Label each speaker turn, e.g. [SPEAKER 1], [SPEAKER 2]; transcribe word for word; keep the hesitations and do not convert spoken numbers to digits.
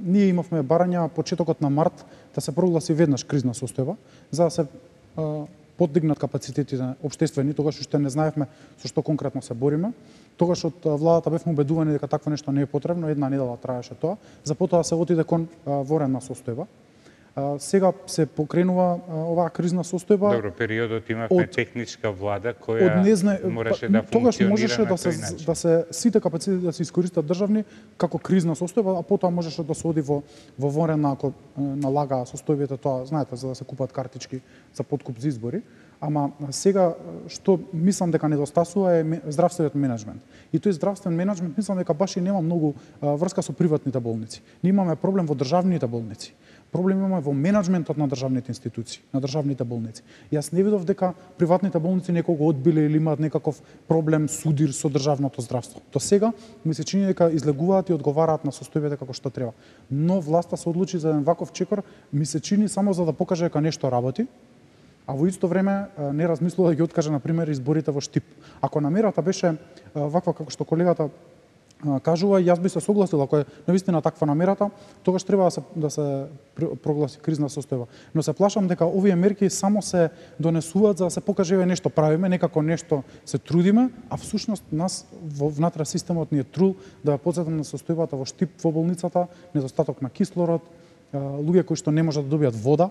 [SPEAKER 1] ние имавме барања почетокот на март да се прогласи веднаш кризна состојба, за да се а, подигнат капацитетите општествени, тогаш уште не знаевме со што конкретно се бориме. Тогаш од владата бевме убедувани дека такво нешто не е потребно, една недела траеше тоа, за потоа се отиде кон а, военна состојба. А, сега се покренува а, оваа кризна состојба.
[SPEAKER 2] Добро, периодот имавме
[SPEAKER 1] од,
[SPEAKER 2] техничка влада која
[SPEAKER 1] незна...
[SPEAKER 2] мораше да
[SPEAKER 1] тогаш
[SPEAKER 2] функционира
[SPEAKER 1] можеше
[SPEAKER 2] на
[SPEAKER 1] да се,
[SPEAKER 2] тој начин.
[SPEAKER 1] да се сите капацитети да се искористат државни како кризна состојба, а потоа можеше да се оди во во военна ако налага состојбите тоа, знаете, за да се купат картички за подкуп за избори. Ама сега што мислам дека недостасува е здравствениот менеджмент. И тој здравствен менеджмент мислам дека баш и нема многу а, врска со приватните болници. Ние имаме проблем во државните болници. Проблем имаме во менеджментот на државните институции, на државните болници. Јас не видов дека приватните болници некого одбиле или имаат некаков проблем судир со државното здравство. До сега ми се чини дека излегуваат и одговараат на состојбите како што треба. Но власта се одлучи за еден ваков чекор, ми се чини само за да покаже дека нешто работи, а во исто време не размислува да ги откаже на пример изборите во Штип. Ако намерата беше ваква како што колегата кажува, јас би се согласил ако е навистина таква намерата, тогаш треба да се да се прогласи кризна состојба. Но се плашам дека овие мерки само се донесуваат за да се покаже еве нешто правиме, некако нешто се трудиме, а всушност нас во внатре системот ни е трул да ја потсетам на состојбата во Штип во болницата, недостаток на кислород, луѓе кои што не можат да добијат вода.